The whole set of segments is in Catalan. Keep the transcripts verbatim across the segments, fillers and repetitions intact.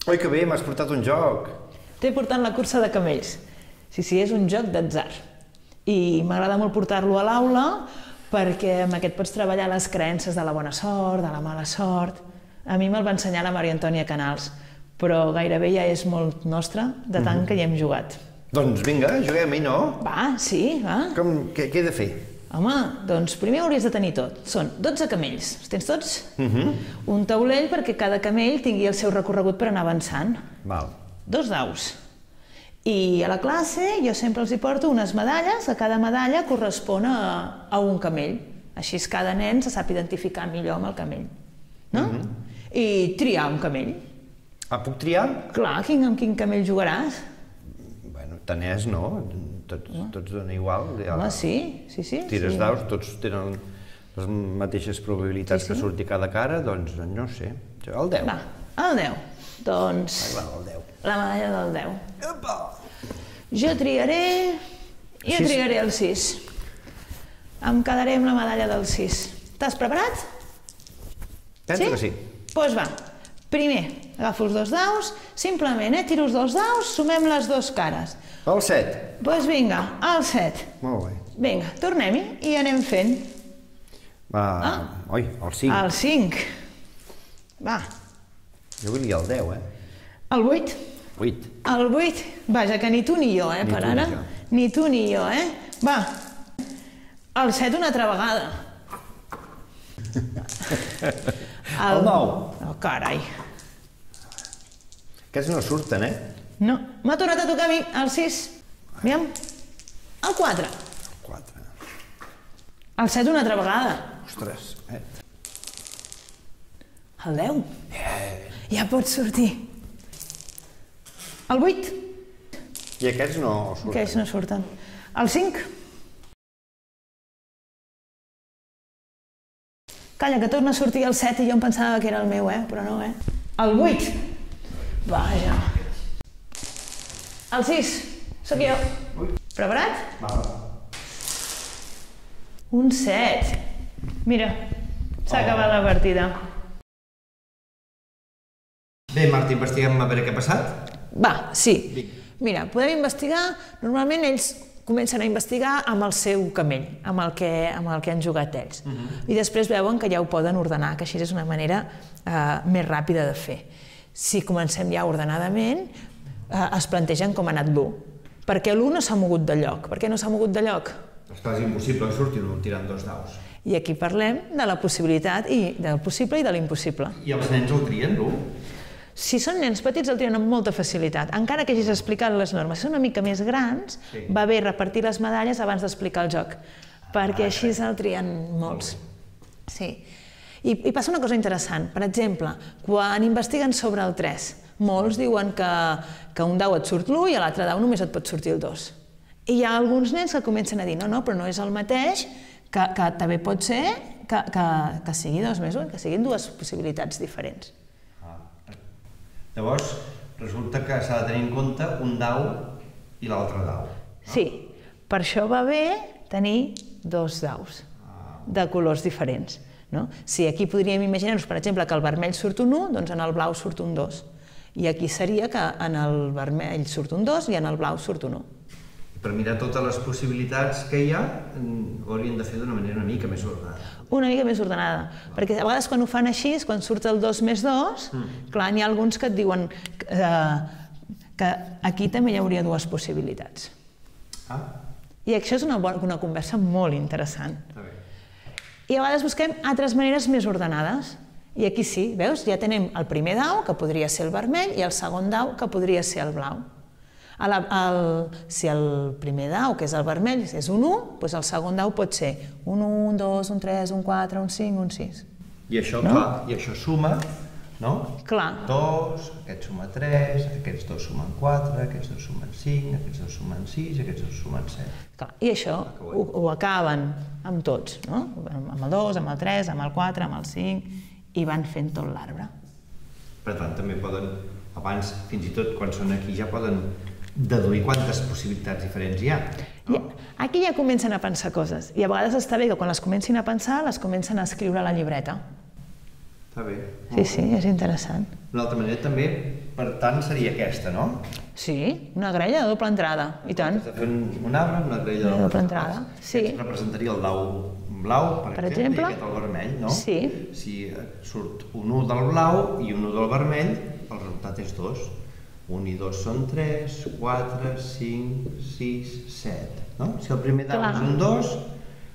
Oi, que bé, m'has portat un joc. T'he portat la cursa de camells. Sí, sí, és un joc d'atzar. I m'agrada molt portar-lo a l'aula perquè amb aquest pots treballar les creences de la bona sort, de la mala sort. A mi me'l va ensenyar la Maria Antònia Canals, però gairebé ja és molt nostre, de tant que hi hem jugat. Doncs vinga, juguem-hi, no? Va, sí, va. Com, què, què he de fer? Home, doncs primer hauries de tenir tot. Són dotze camells. Els tens tots? Un taulell perquè cada camell tingui el seu recorregut per anar avançant. Val. Dos daus. I a la classe jo sempre els hi porto unes medalles, que cada medalla correspon a, a un camell. Així cada nen se sap identificar millor amb el camell. No? I triar un camell. Ah, puc triar? Clar, quin, amb quin camell jugaràs? Bueno, tant és, no? Tots, tots donen igual. Home, sí, sí, sí. Tires daus, tots tenen les mateixes probabilitats que surti cada cara, doncs no sé. El deu. Va, el deu. Doncs... Va, el deu. La medalla del deu. Jo triaré... Jo triaré el sis. Em quedaré amb la medalla del sis. T'has preparat? Penso que sí. Doncs va. Primer, agafo els dos daus, simplement, eh, tiro els dos daus, sumem les dues cares. El set. Doncs vinga, el set. Molt bé. Vinga, tornem-hi i anem fent. Va, oi, el cinc. El cinc. Va. Jo volia el deu, eh? El vuit. Vuit. El vuit. Vaja, que ni tu ni jo, eh, per ara. Ni tu ni jo, eh? Va. El set una altra vegada. El nou. Oh, carai. Aquests no surten, eh? No. M'ha tornat a tocar a mi, el sis. Aviam. El quatre. El quatre. El set una altra vegada. Ostres, eh? El deu. Ja pot sortir. El vuit. I aquests no surten. Aquests no surten. El cinc. Calla, que torna a sortir el set i jo em pensava que era el meu, eh? Però no, eh? El vuit. Vaja. El sis. Sóc jo. Preparat? Va. Un set. Mira, s'ha acabat la partida. Bé, Marta, investiguem a veure què ha passat? Va, sí. Mira, podem investigar... Normalment ells comencen a investigar amb el seu camell, amb el que, amb el que han jugat ells. I després veuen que ja ho poden ordenar, que així és una manera eh, més ràpida de fer. Si comencem ja ordenadament, eh, es plantegen com ha anat l'u. Perquè l'u no s'ha mogut de lloc. Per què no s'ha mogut de lloc? És quasi impossible que surti l'u tirant dos daus. I aquí parlem de la possibilitat, i del possible i de l'impossible. I els nens el trien, l'u? Si són nens petits el trien amb molta facilitat, encara que hagis explicat les normes. Si són una mica més grans, va bé repartir les medalles abans d'explicar el joc, perquè així el trien molts. Sí. I, I passa una cosa interessant. Per exemple, quan investiguen sobre el tres, molts diuen que, que un dau et surt l'u i a l'altre dau només et pot sortir el dos. I hi ha alguns nens que comencen a dir no, no, però no és el mateix, que, que també pot ser que, que, que sigui dos més un, que siguin dues possibilitats diferents. Llavors, resulta que s'ha de tenir en compte un dau i l'altre dau. Sí, per això va bé tenir dos daus de colors diferents. Si aquí podríem imaginar-nos, per exemple, que el vermell surt un u, doncs en el blau surt un dos. I aquí seria que en el vermell surt un dos i en el blau surt un u. Per mirar totes les possibilitats que hi ha, ho haurien de fer d'una manera una mica més ordenada. Una mica més ordenada, perquè a vegades quan ho fan així, quan surt el dos més dos, clar, n'hi ha alguns que et diuen que aquí també hi hauria dues possibilitats. I això és una conversa molt interessant. I a vegades busquem altres maneres més ordenades. I aquí sí, veus? Ja tenim el primer dau, que podria ser el vermell, i el segon dau, que podria ser el blau. Si el primer dau, que és el vermell, és un u, doncs el segon dau pot ser un u, un dos, un tres, un quatre, un cinc, un sis. I això, clar, i això suma, no? Clar. dos, aquest suma tres, aquests dos sumen quatre, aquests dos sumen cinc, aquests dos sumen sis, aquests dos sumen set. I això ho acaben amb tots, no? Amb el dos, amb el tres, amb el quatre, amb el cinc, i van fent tot l'arbre. Per tant, també poden, abans, fins i tot quan són aquí, ja poden deduir quantes possibilitats diferents hi ha. Aquí ja comencen a pensar coses, i a vegades està bé que quan les comencin a pensar les comencen a escriure a la llibreta. Està bé. Sí, sí, és interessant. Una altra manera també, per tant, seria aquesta, no? Sí, una graella de doble entrada, i tant. Has de fer un arbre amb una graella de doble entrada. Sí. Aquest representaria el dau blau, per exemple, i aquest el vermell, no? Sí. Si surt un u del blau i un u del vermell, el resultat és dos. Un i dos són tres, quatre, cinc, sis, set, no? Si el primer dau és un dos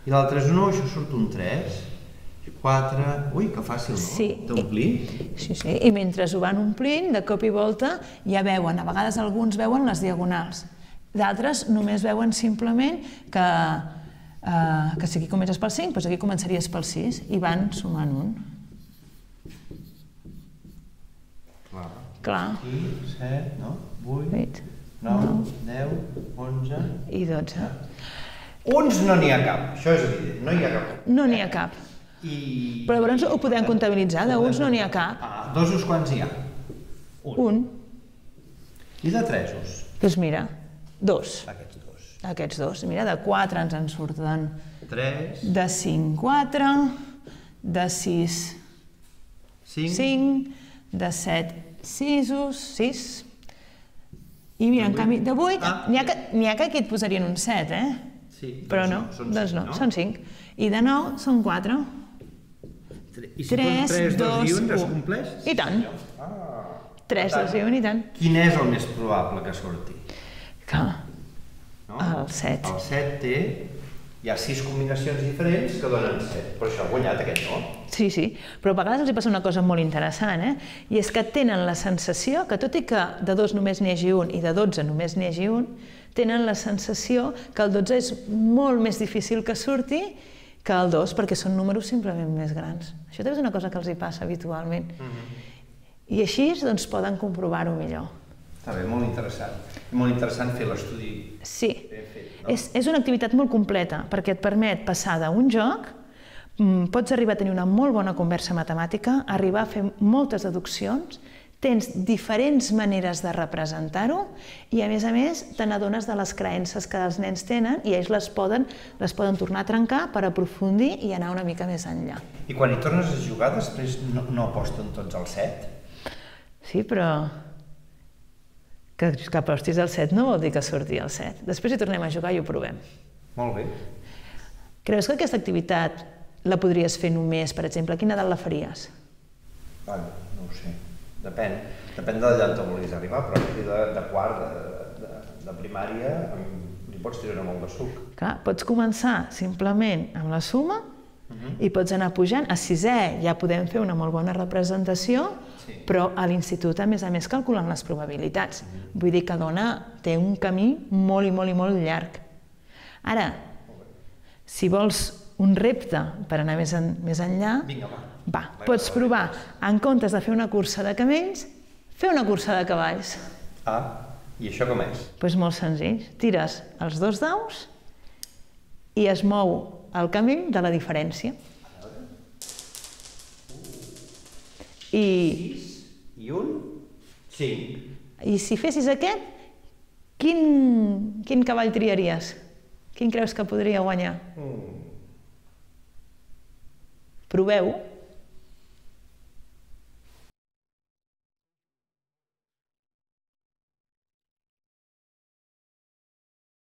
i l'altre és un u, això surt un tres. quatre... Ui, que fàcil, no? Sí. D'omplir. Sí, sí. I mentre ho van omplint, de cop i volta, ja veuen, a vegades alguns veuen les diagonals. D'altres només veuen simplement que, eh, que si aquí comences pel cinc, doncs aquí començaries pel sis, i van sumant un. Clar. Clar. Aquí, set, no? vuit, nou, deu, onze... I dotze. Uns no n'hi ha cap, això és evident, no hi ha cap. No n'hi ha cap. I... Però llavors ho podem comptabilitzar, d'uns no n'hi ha cap. Ah, dosos quants hi ha? Un. Un. I de tresos? Doncs mira, dos. Aquests dos. Aquests dos. Mira, de quatre ens en surten. Tres. De cinc, quatre. De sis, cinc. cinc. De set, sisos, sis. I mira, en canvi, de vuit, n'hi ha, ha que aquí et posarien un set, eh? Sí, però no, doncs no, són cinc. I de nou són quatre. I si poses tres, dos i un, es compleix? I tant. tres, dos i un, i tant. Quin és el més probable que surti? Que el set. El set té... Hi ha sis combinacions diferents que donen set, però això ha guanyat aquest, no? Sí, sí, però a vegades els hi passa una cosa molt interessant, eh? I és que tenen la sensació que, tot i que de dos només n'hi hagi un i de dotze només n'hi hagi un, tenen la sensació que el dotze és molt més difícil que surti que el dos, perquè són números simplement més grans. Això també és una cosa que els hi passa habitualment. I així doncs, poden comprovar-ho millor. Està bé, molt interessant. Molt interessant fer l'estudi. Sí, és, és una activitat molt completa, perquè et permet passar d'un joc, pots arribar a tenir una molt bona conversa matemàtica, arribar a fer moltes deduccions, tens diferents maneres de representar-ho i, a més a més, te n'adones de les creences que els nens tenen i ells les poden, les poden tornar a trencar per aprofundir i anar una mica més enllà. I quan hi tornes a jugar, després no, no aposten tots al set? Sí, però que, que apostis al set no vol dir que surti al set. Després hi tornem a jugar i ho provem. Molt bé. Creus que aquesta activitat la podries fer només, per exemple, a quina edat la faries? Bueno, no ho sé. Depèn. Depèn de allà on vulguis arribar, però a partir de, de quart, de, de, de primària, li pots treure molt de suc. Clar, pots començar simplement amb la suma uh-huh. i pots anar pujant. A sisè ja podem fer una molt bona representació, sí. Però a l'institut, a més a més, calculen les probabilitats. Uh-huh. Vull dir que dona, té un camí molt i molt i molt llarg. Ara, si vols un repte per anar més, en, més enllà, vinga, va. Va, pots provar, en comptes de fer una cursa de camells, fer una cursa de cavalls. Ah, i això com és? Doncs molt senzill. Tires els dos daus i es mou el camell de la diferència. I... sis i un, cinc. I si fessis aquest, quin, quin cavall triaries? Quin creus que podria guanyar? Mm. Proveu.